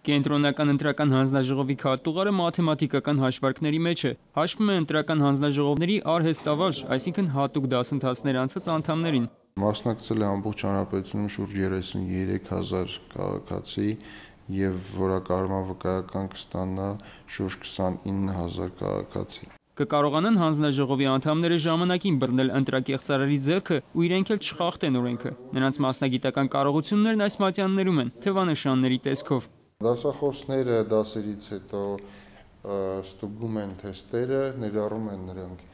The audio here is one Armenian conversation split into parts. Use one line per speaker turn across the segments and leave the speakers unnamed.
Կենտրոնական ընտրական հանձնաժողովի քարտուղարը մաթեմատիկական հաշվարկների մեջ է։ Հաշվում է ընտրական հանձնաժողովների արհեստավարժ, այսինքն հատուկ դասընթացներ անցած անդամներին։
Մասնակցել է ամբողջ հանրապետությունում շուրջ 33,000 քաղաքացի եւ որակառման վկայական կստանա շուրջ 29,000 քաղաքացի։
Կկարողանան հանձնաժողովի անդամները ժամանակին բռնել ընտրակեղծարարի ձեռքը ու իրենք էլ չխախտեն օրենքը։ Նրանց մասնագիտական կարողություններն այս մատյաններում են, թվանշանների տեսքով։
Դասախոսները դասերից հետո ստուգում են թեստերը, ներառում են նրանք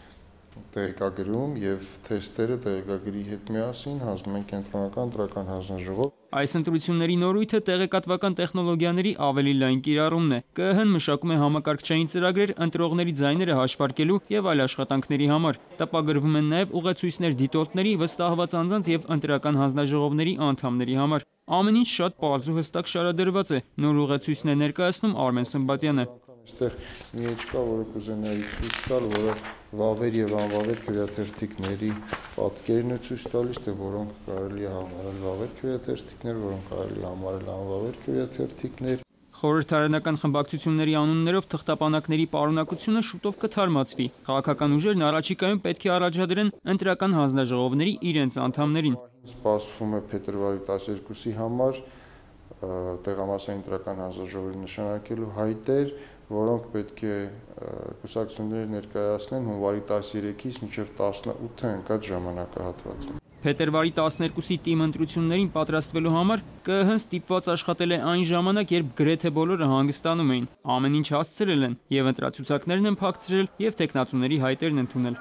տեղեկագրում եւ թեստերը տեղեկագրի հետ միասին հանձնում են կենտրոնական ընտրական հանձնաժողով։
Այս ընտրությունների նորույթը տեղեկատվական տեխնոլոգիաների ավելի լայն կիրառումն է։ ԿԸՀ-ն մշակում է համակարգչային ծրագրեր ընտրողների ձայները հաշվարկելու եւ այլ աշխատանքների համար։ Տպագրվում են նաեւ ուղեցույցներ դիտորդների, վստահված անձանց եւ ընտրական հանձնաժողովների անդամների համար։ Ամեն ինչ շատ պարզ ու հստակ շարադրված է։ Նոր ուղեցույցն է ներկայացնում Արմեն Սմբատյանը։
Այստեղ մի էջ կա, որը կուզենայի ցույց տալ, որը վավեր եւ անվավեր քվեաթերթիկների պատկերն է ցույց տալիս, թե որոնք կարելի է համարել վավեր քվեաթերթիկներ, որոնք կարելի է համարել անվավեր քվեաթերթիկներ։
Խորհրդարանական խմբակցությունների անուններով թղթապանակների պարունակությունը շուտով կթարմացվի։ Քաղաքական ուժերն առաջիկայում պետք է առաջադրեն ընտրական հանձնաժողովների իրենց անդամներին։
Սպասվում է փետրվարի 12-ի համար տեղամասային ընտրական հանձնաժողովի նշանակելու հայտեր, որոնք պետք է կուսակցությունները ներկայացնեն հունվարի 13-ից մինչև 18-ը ընկած ժամանակահատվածում։ Փետրվարի
12-ի թիմ ընտրություններին պատրաստվելու համար ԿԸՀ-ն ստիպված աշխատել է այն ժամանակ, երբ գրեթե բոլորը հանգստանում էին։ Ամեն ինչ հասցրել են, եւ ընտրացուցակներն են փակցրել, եւ թեկնածուների հայտերն ընդունել։